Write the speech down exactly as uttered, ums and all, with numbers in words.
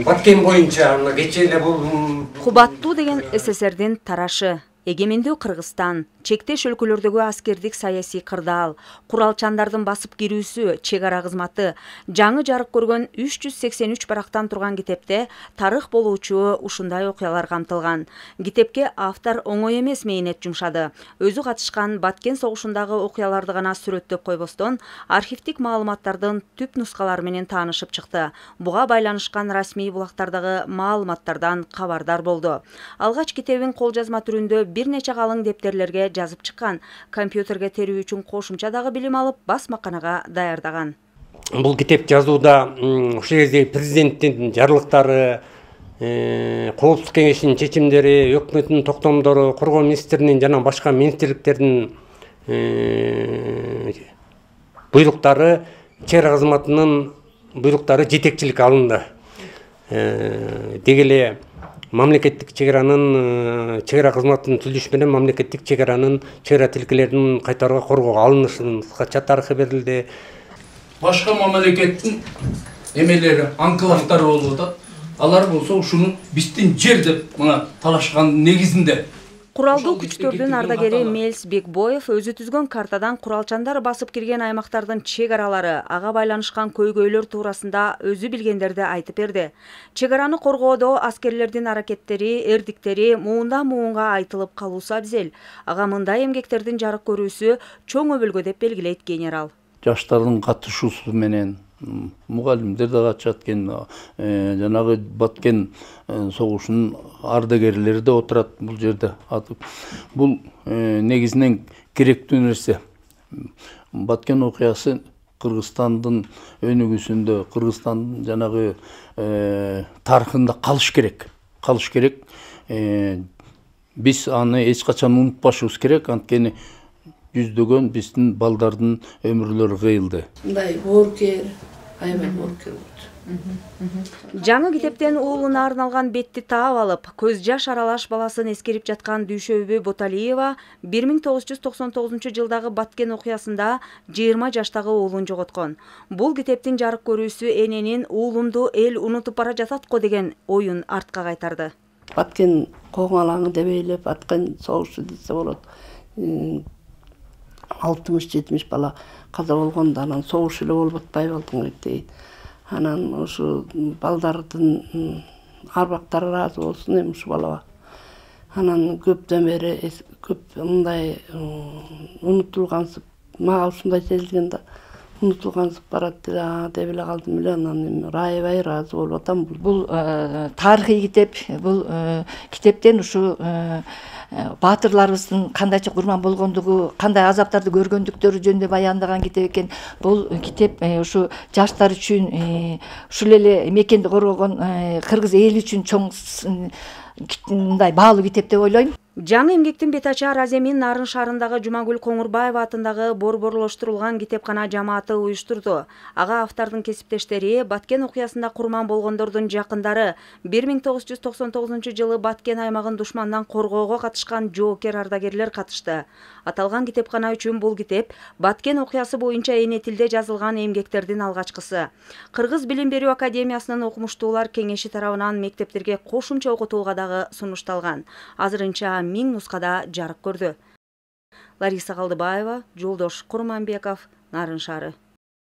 Баткен боюнча кечээ эле бул Кубаттуу деген СССРдин тарашы, эгемендүү Кыргызстан, чектеш өлкөлөрдөгү аскердик саясий кырдаал, куралчандардын басып кирүүсү, чек ара кызматы, жаңы жарык көргөн үч жүз сексен үч барактан турган китепте тарых болуучу ушундай окуялар камтылган. Китепке автор оңой эмес мээнет жумшады. Өзү катышкан Баткен согушундагы окуяларды гана сүрөттөп койбостон, архивдик маалыматтардын түп нускалары менен таанышып чыкты. Буга байланышкан расмий булактардагы маалыматтардан кабардар болду. Алгач китебин кол жазма түрүндө бир нече калың дептерлерге жазып чыккан, компьютерге терүү үчүн кошумча дагы билим алып, басмаканага даярдаган. Бул китеп жазууда ушул кезде президенттин жарлыктары, Коопсуздук кеңешинин чечимдери, өкмөттүн токтомдору, коргоо министринин жана башка министрликтердин буйруктары, чек ара кызматынын буйруктары жетекчиликке алынды. Деги эле мамлекеттик чек аранын чек ара кызматынын түзүлүшү менен мамлекеттик чек аранын чек ара тилкелерин кайтарууга коргоого алынышынын кыскача тарыхы берилди. Башка мамлекеттин эмелери, анклавдары болуп атат. Алар болсо ушуну биздин жер деп мына талашкан негизинде. Куралдуу күчтөрдүн ардагери Мелс Бекбоев өзү түзгөн картадан куралчандар басып кирген аймактардын чек аралары, ага байланышкан көйгөйлөр туурасында өзү билгендерди айтып берди. Чек араны коргоодо аскерлердин аракеттери, эрдиктери муундан муунга айтылып калуусу абзел. Ага мындай эмгектердин жарык көрүүсү чоң өбөлгө деп белгилейт генерал. Жаштардын катышуусу менен мугалимдер да катышат экен, жанагы Баткен согушунун ардагерлери да отурат бул жерде. Бул негизинен керектүү нерсе. Баткен окуясы Кыргызстандын өнүгүүсүндө, Кыргызстандын жанагы тарыхында калыш керек. Калыш керек. Биз аны эч качан унутпашыбыз керек, анткени жүздөгөн биздин балдардын өмүрлөрү кыйылды. Мындай боорукер, аябай боорукер болду. Жаңы китептен уулуна арналган бетти таап алып, көз жаш аралаш баласын эскерип жаткан Дүйшөбү Боталиева бир миң тогуз жүз токсон тогузунчу жылдагы Баткен окуясында жыйырма жаштагы уулун жоготкон. Бул китептин жарык көрүүсү эненин уулумду эл унутуп бара жатат го деген оюн артка кайтарды. Баткен коңалаңы деп эйлеп, Баткен согушу десе болот. алтымыш жетимиш бала каза болгондо анан согуш эле болуп атпайбы алдыңгы дейт. Анан ушу балдардын арбактары ыраазы болсун эми ушу балага. Анан көптөн бери көп мындай унутулгансып, мага ушундай сезилген да, унутулгансып барат деп эле калдым эле. Анан эми аябай ыраазы болуп атам. Бул тарыхый китеп, бул китептен ушу баатырларыбыздын кандайча курман болгондугу, кандай азаптарды көргөндүктөрү жөнүндө баяндаган китеп экен. Бул китеп ушу жаштар үчүн, ушул эле мекенди коргогон кыргыз эли үчүн чоң мындай баалуу китеп деп ойлойм. Жаңы эмгектин бетачар Аземин Нарын шаарындагы Жумагүл Коңурбаева атындагы борборлоштурулган китепкана жамааты уюштурду. Ага автордун кесиптештери, Баткен окуясында курман болгондордун жакындары, бир миң тогуз жүз токсон тогузунчу жылы Баткен аймагын душмандан коргоого катышкан жоокер ардагерлер катышты. Аталган китепкана үчүн бул китеп Баткен окуясы боюнча эне тилде жазылган эмгектердин алгачкысы. Кыргыз Билим берүү академиясынын окумуштуулар кеңеши тарабынан мектептерге кошумча окутууга дагы сунушталган. Азырынча миң нускада жарык көрдү. Лариса Калдыбаева, Жолдош Курманбеков, Нарын шаары.